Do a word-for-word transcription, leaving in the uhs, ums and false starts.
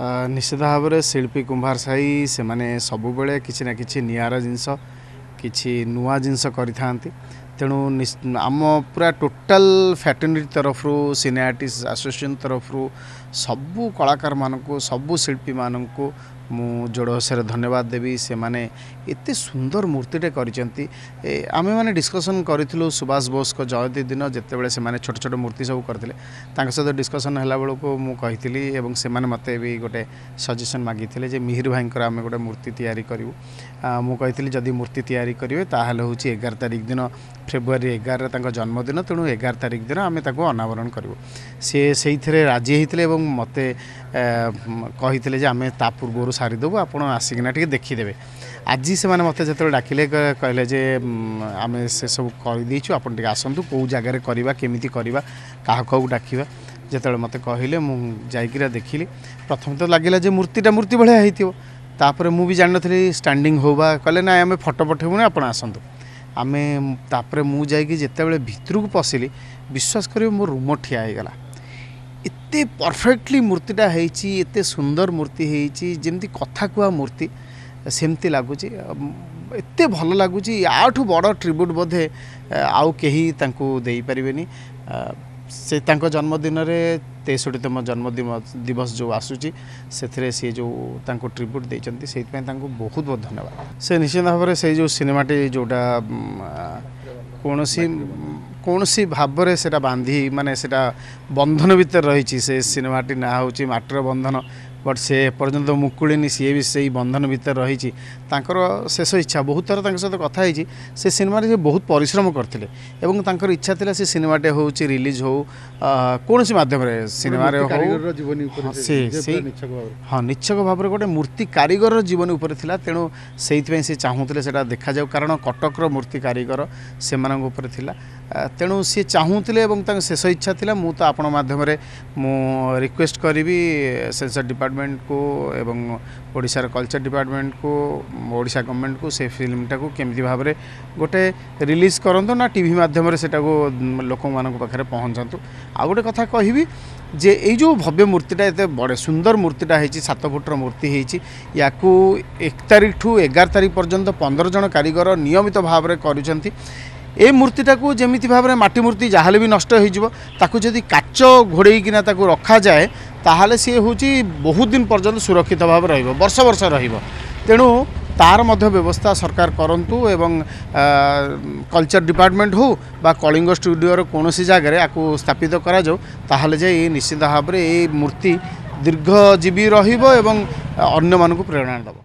ନିଶ୍ଚିତ ଭାବରେ ଶିଳ୍ପୀ କୁମ୍ଭାର ସାହି ସେମାନେ ସବୁବେଳେ କିଛି ନା କିଛି ନିଆରା ଜିନିଷ, କିଛି ନୂଆ ଜିନିଷ କରିଥାନ୍ତି। ତେଣୁ ଆମ ପୁରା ଟୋଟାଲ ଫ୍ରାଟର୍ନିଟି ତରଫରୁ, ସିନେ ଆର୍ଟିଷ୍ଟ ଆସୋସିଏସନ୍ ତରଫରୁ ସବୁ କଳାକାରମାନଙ୍କୁ, ସବୁ ଶିଳ୍ପୀମାନଙ୍କୁ ମୁଁ ଯୋଡ଼ ହସରେ ଧନ୍ୟବାଦ ଦେବି। ସେମାନେ ଏତେ ସୁନ୍ଦର ମୂର୍ତ୍ତିଟେ କରିଛନ୍ତି। ଆମେମାନେ ଡିସ୍କସନ୍ କରିଥିଲୁ ସୁଭାଷ ବୋଷଙ୍କ ଜୟନ୍ତୀ ଦିନ, ଯେତେବେଳେ ସେମାନେ ଛୋଟ ଛୋଟ ମୂର୍ତ୍ତି ସବୁ କରିଥିଲେ, ତାଙ୍କ ସହିତ ଡିସ୍କସନ୍ ହେଲା ବେଳକୁ ମୁଁ କହିଥିଲି ଏବଂ ସେମାନେ ମୋତେ ବି ଗୋଟେ ସଜେସନ୍ ମାଗିଥିଲେ ଯେ ମିହିର ଭାଇଙ୍କର ଆମେ ଗୋଟେ ମୂର୍ତ୍ତି ତିଆରି କରିବୁ। ମୁଁ କହିଥିଲି ଯଦି ମୂର୍ତ୍ତି ତିଆରି କରିବେ ତାହେଲେ ହେଉଛି ଏଗାର ତାରିଖ ଦିନ, ଫେବୃଆରୀ ଏଗାରରେ ତାଙ୍କ ଜନ୍ମଦିନ, ତେଣୁ ଏଗାର ତାରିଖ ଦିନ ଆମେ ତାକୁ ଅନାବରଣ କରିବୁ। ସିଏ ସେଇଥିରେ ରାଜି ହେଇଥିଲେ ଏବଂ ମୋତେ କହିଥିଲେ ଯେ ଆମେ ତା ପୂର୍ବରୁ ସାରିଦେବୁ, ଆପଣ ଆସିକିନା ଟିକେ ଦେଖିଦେବେ। ଆଜି ସେମାନେ ମୋତେ ଯେତେବେଳେ ଡାକିଲେ, କହିଲେ ଯେ ଆମେ ସେସବୁ କରିଦେଇଛୁ, ଆପଣ ଟିକେ ଆସନ୍ତୁ, କେଉଁ ଜାଗାରେ କରିବା, କେମିତି କରିବା, କାହାକୁ କାହାକୁ ଡାକିବା। ଯେତେବେଳେ ମୋତେ କହିଲେ ମୁଁ ଯାଇକିନା ଦେଖିଲି। ପ୍ରଥମେ ତ ଲାଗିଲା ଯେ ମୂର୍ତ୍ତିଟା ମୂର୍ତ୍ତି ଭଳିଆ ହେଇଥିବ, ତାପରେ ମୁଁ ବି ଜାଣିନଥିଲି ଷ୍ଟାଣ୍ଡିଂ ହଉ ବା, କହିଲେ ନାଇଁ ଆମେ ଫଟୋ ପଠେଇବୁନି, ଆପଣ ଆସନ୍ତୁ। ଆମେ ତାପରେ ମୁଁ ଯାଇକି ଯେତେବେଳେ ଭିତରକୁ ପଶିଲି, ବିଶ୍ୱାସ କରିବେ ମୋ ରୁମ ଠିଆ ହେଇଗଲା। ଏତେ ପରଫେକ୍ଟଲି ମୂର୍ତ୍ତିଟା ହେଇଛି, ଏତେ ସୁନ୍ଦର ମୂର୍ତ୍ତି ହେଇଛି, ଯେମିତି କଥା କୁହା ମୂର୍ତ୍ତି ସେମିତି ଲାଗୁଛି, ଏତେ ଭଲ ଲାଗୁଛି। ୟାଠୁ ବଡ଼ ଟ୍ରିବ୍ୟୁଟ୍ ବୋଧେ ଆଉ କେହି ତାଙ୍କୁ ଦେଇପାରିବେନି। ସେ ତାଙ୍କ ଜନ୍ମଦିନରେ, ତେଷଠିତମ ଜନ୍ମଦିନ ଦିବସ ଯେଉଁ ଆସୁଛି, ସେଥିରେ ସିଏ ଯେଉଁ ତାଙ୍କୁ ଟ୍ରିବ୍ୟୁଟ୍ ଦେଇଛନ୍ତି, ସେଇଥିପାଇଁ ତାଙ୍କୁ ବହୁତ ବହୁତ ଧନ୍ୟବାଦ। ସେ ନିଶ୍ଚିତ ଭାବରେ ସେଇ ଯେଉଁ ସିନେମାଟି ଯେଉଁଟା କୌଣସି କୌଣସି ଭାବରେ ସେଇଟା ବାନ୍ଧି, ମାନେ ସେଇଟା ବନ୍ଧନ ଭିତରେ ରହିଛି, ସେ ସିନେମାଟି ନାଁ ହେଉଛି ମାଟିର ବନ୍ଧନ। ବଟ୍ ସେ ଏପର୍ଯ୍ୟନ୍ତ ମୁକୁଳିନି, ସିଏ ବି ସେଇ ବନ୍ଧନ ଭିତରେ ରହିଛି। ତାଙ୍କର ଶେଷ ଇଚ୍ଛା, ବହୁତ ଥର ତାଙ୍କ ସହିତ କଥା ହେଇଛି, ସେ ସିନେମାରେ ସେ ବହୁତ ପରିଶ୍ରମ କରିଥିଲେ ଏବଂ ତାଙ୍କର ଇଚ୍ଛା ଥିଲା ସେ ସିନେମାଟେ ହେଉଛି ରିଲିଜ୍ ହେଉ କୌଣସି ମାଧ୍ୟମରେ, ସିନେମାରେ ହଉ, ସେ ସେଇ ହଁ ନିଚ୍ଛକ ଭାବରେ ଗୋଟେ ମୂର୍ତ୍ତି କାରିଗରର ଜୀବନୀ ଉପରେ ଥିଲା। ତେଣୁ ସେଇଥିପାଇଁ ସେ ଚାହୁଁଥିଲେ ସେଇଟା ଦେଖାଯାଉ, କାରଣ କଟକର ମୂର୍ତ୍ତି କାରିଗର ସେମାନଙ୍କ ଉପରେ ଥିଲା। ତେଣୁ ସିଏ ଚାହୁଁଥିଲେ ଏବଂ ତାଙ୍କ ଶେଷ ଇଚ୍ଛା ଥିଲା। ମୁଁ ତ ଆପଣଙ୍କ ମାଧ୍ୟମରେ ମୁଁ ରିକ୍ୱେଷ୍ଟ କରିବି ସେନ୍ସର ଡିପାର୍ଟମେଣ୍ଟକୁ ଏବଂ ଓଡ଼ିଶାର କଲଚର ଡିପାର୍ଟମେଣ୍ଟକୁ, ଓଡ଼ିଶା ଗଭର୍ଣ୍ଣମେଣ୍ଟକୁ, ସେ ଫିଲ୍ମଟାକୁ କେମିତି ଭାବରେ ଗୋଟେ ରିଲିଜ୍ କରନ୍ତୁ ନା ଟିଭି ମାଧ୍ୟମରେ ସେଟାକୁ ଲୋକମାନଙ୍କ ପାଖରେ ପହଞ୍ଚାନ୍ତୁ। ଆଉ ଗୋଟେ କଥା କହିବି ଯେ ଏଇ ଯେଉଁ ଭବ୍ୟ ମୂର୍ତ୍ତିଟା, ଏତେ ବଡ଼ ସୁନ୍ଦର ମୂର୍ତ୍ତିଟା ହେଇଛି, ସାତ ଫୁଟର ମୂର୍ତ୍ତି ହେଇଛି, ୟାକୁ ଏକ ତାରିଖଠୁ ଏଗାର ତାରିଖ ପର୍ଯ୍ୟନ୍ତ ପନ୍ଦର ଜଣ କାରିଗର ନିୟମିତ ଭାବରେ କରୁଛନ୍ତି। ଏ ମୂର୍ତ୍ତିଟାକୁ ଯେମିତି ଭାବରେ ମାଟି ମୂର୍ତ୍ତି ଯାହାହେଲେ ବି ନଷ୍ଟ ହେଇଯିବ, ତାକୁ ଯଦି କାଚ ଘୋଡ଼େଇକିନା ତାକୁ ରଖାଯାଏ ତାହେଲେ ସିଏ ହେଉଛି ବହୁତ ଦିନ ପର୍ଯ୍ୟନ୍ତ ସୁରକ୍ଷିତ ଭାବେ ରହିବ, ବର୍ଷ ବର୍ଷ ରହିବ। ତେଣୁ ତାର ମଧ୍ୟ ବ୍ୟବସ୍ଥା ସରକାର କରନ୍ତୁ ଏବଂ କଲଚର ଡିପାର୍ଟମେଣ୍ଟ ହେଉ ବା କଳିଙ୍ଗ ଷ୍ଟୁଡ଼ିଓର କୌଣସି ଜାଗାରେ ଆକୁ ସ୍ଥାପିତ କରାଯାଉ, ତାହେଲେ ଯାଇ ନିଶ୍ଚିତ ଭାବରେ ଏଇ ମୂର୍ତ୍ତି ଦୀର୍ଘଜୀବୀ ରହିବ ଏବଂ ଅନ୍ୟମାନଙ୍କୁ ପ୍ରେରଣା ଦେବ।